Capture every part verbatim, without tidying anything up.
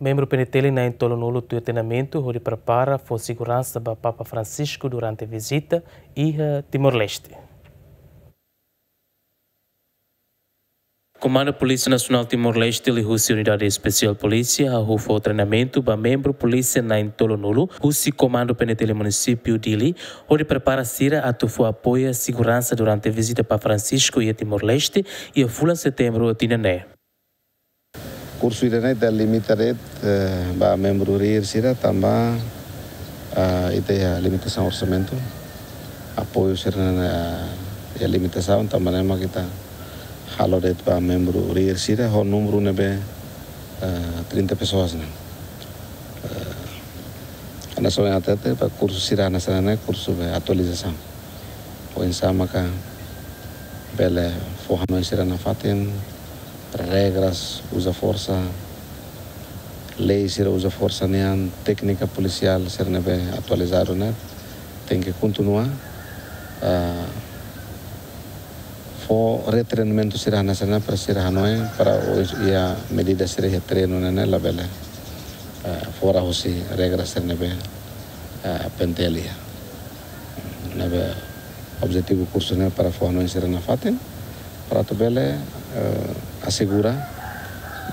Membru P N T L na'in-tolunulu tuir treinamentu hodi prepara fó seguransa ba Papa Francisco durante vizita iha Timor-Leste. Komandu Polísia Nasionál Timor-Leste liuhusi Unidade Espesiál Polísia hahú fó treinamentu ba membru polísia na'in-tolunulu husi Komandu P N T L Munisípiu Dili, hodi prepara sira atu fó apoiu seguransa durante vizita Papa Francisco iha Timor-Leste iha fulan Setembru tinan ne'e. Kursu ida-ne'e ita limita de'it, eh, ba membru rir sira tanba, ah, ita iha limitasaun orsamentu. Apoiu sira-ne'e, ah, iha limitasaun tanba ne'e mak ita halo de'it ba membru rir sira ho númeru ne'ebé, eh, trinta pessoas ne'e. Eh, hanesan ohin hatete ba kursu sira hanesan ne'e kursu be atualizasaun. Oinsá maka bele fó hanoin sira nafatin, regras uza forsa, lei sira uza forsa nian, téknika polisiál sira ne'ebé atualizadu ne'e, tenke kontinua, ah, fó retreinamentu sira hanesan ne'e para sira hanoin, para oinsá medida sira iha treinu ne'e ne'e labele, ah, fora husi regra sira ne'ebé, ah, P N T L iha. Ne'ebé objetivu kursu ne'e para fó hanoin sira nafatin, para atu bele, eh, asegura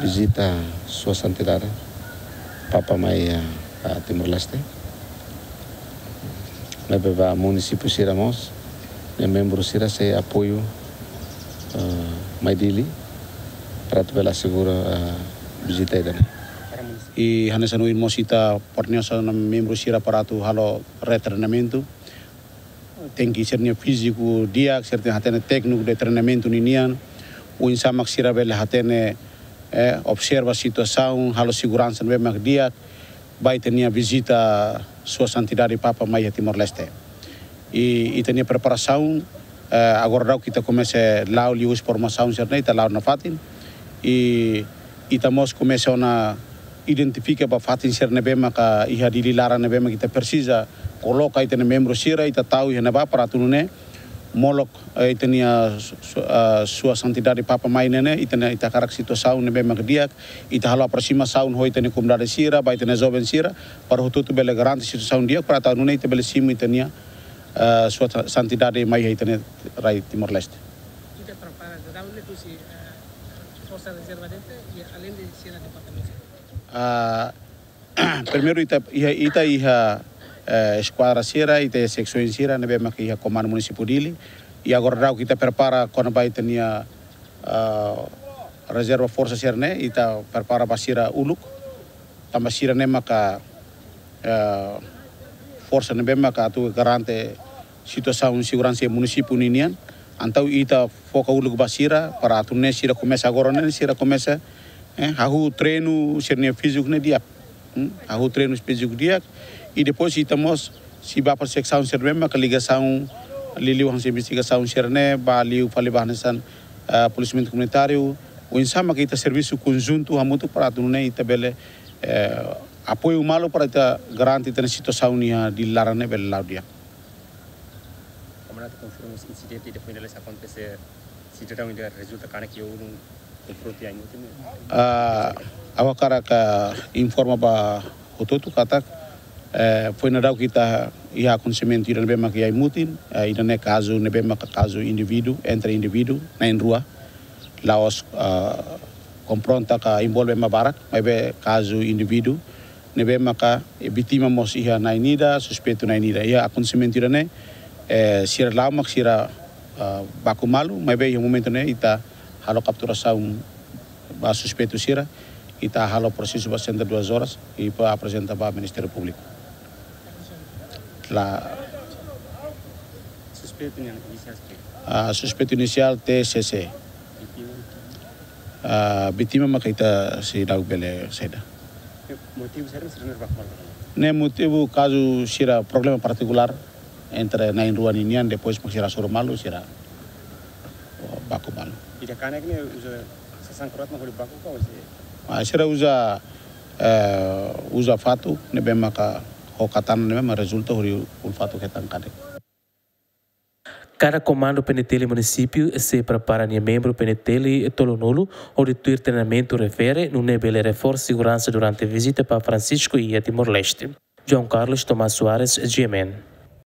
vizita Sua Santidade Papa mai, eh, a Timor-Leste. Ne'ebé ba munisípiu sira mós, nia membru sira sei apoiu, eh, mai Dili, para atu bele asegura, eh, vizita ida-ne'e. I hanesan ohin mós ita porniosa na membru sira para atu halo retreinamentu. Tenke sira-nia fíziku di'ak, sira tenke hatene tékniku de treinamentu ninian. Oinsá mak sira bele hatene, eh, observa situasaun, halo seguransa ne'ebé mak di'ak, ba ita-nia vizita Sua Santidade Papa mai iha Timor-Leste. I ita-nia preparasaun, eh, agora daudauk ita komesa la'o liuhusi formasaun sira-ne'e, ita la'o nafatin. I ita mós komesa ona identifika ba fatin sira ne'ebé maka iha Dili laran ne'ebé maka ita presiza koloka ita-nia membru sira, ita tau iha ne'ebá para atu nune'e molok, eh, ita-nia su-, su-, ah, Sua Santidade Papa mai ne'e ne'e, ita-nia, ita hakarak situasaun ne'ebé maka di'ak, ita halo aprosimasaun ho ita-nia komunidade sira, ba ita-nia joven sira, para hotu-hotu bele garante situasaun di'ak, para atu nune'e ita bele simu ita-nia, ah, Sua Santidade mai iha ita-nia rai Timor-Leste. Ita prepara daudaun ne'e husi, eh, Forsa Rezerva de'it, i além de sira departamentu sira. Ah, primeiru ita iha, ita iha, eh, eskuadra sira, ita iha seksaun sira ne'ebé maka iha Komandu Munisípiu Dili. I agora daudauk ita prepara kona-ba ita-nia, ah, rezerva forsa sira-ne'e, ita prepara ba sira uluk. Tanba sira-ne'e maka, eh, forsa ne'ebé maka atu garante situasaun seguransa iha munisípiu ninian. Entaun ita foka uluk ba sira, para atu nune'e sira komesa agora ne'e, sira komesa, eh, hahú treinu sira-nia fíziku ne'e di'ak. Hmm? Hahú treinu fíziku di'ak. I depois ita mós sei bá ba seksaun sira-ne'ebé maka ligasaun, liuliu hanesan investigasaun sira-ne'e, ba liu fali ba hanesan, ah, polisiamentu komunitáriu. Oinsá maka ita servisu konjuntu hamutuk para atu nune'e ita bele, eh, apoiu malu para ita garante ita-nia situasaun iha Dili laran ne'e bele la'o di'ak. Komandante konfirma se insidente ida foin hela akontese, sidadaun ida rezulta kanek iha ulun konfrontu iha Aimutin ne'e? Ah, ha'u hakarak informa ba hotu-hotu katak, eh, foin daudauk ita iha akontesimentu ida ne'ebé maka iha Aimutin, eh, ida-ne'e kazu ne'ebé maka kazu indivíduu, entre indivíduu na'in-rua, la'ós, ah, konfronta ka envolve ema barak, maibé kazu indivíduu ne'ebé maka, eh, vítima mós iha na'in-ida, suspeitu na'in-ida. Iha akontesimentu ida-ne'e, eh, sira la'o mak sira, ah, baku malu, maibé iha momentu ne'e ita halo kapturasaun ba suspeitu sira, ita halo prosesu ba setenta e duas horas, i ba aprezenta ba Ministériu Públiku. La Suspeitu nian inisiál saida? Ah, suspeitu inisiál T C C. Vítima? Ah, vítima maka ita seidauk bele saida. Motivu saida mak sira ne'e baku malu? Ne'e motivu kazu sira problema partikulár entre na'in-rua ninian, depois mak sira hasoru malu, sira baku malu. Ida kanek ne'e uza sasán kroat mak hodi baku ka, ou se? Ah, sira uza, eh, uza fatuk ne'ebé maka ho katana ne'ebé mak rezulta hodi ulun-fatuk hetan kanek. Kada komandu PNTL munisípiu sei prepara nia membru PNTL tolunulu hodi tuir treinamentu refere, nune'e bele reforsa seguransa durante vizita ba Francisco iha Timor-Leste. João Carlos Tomás Soares, GMN.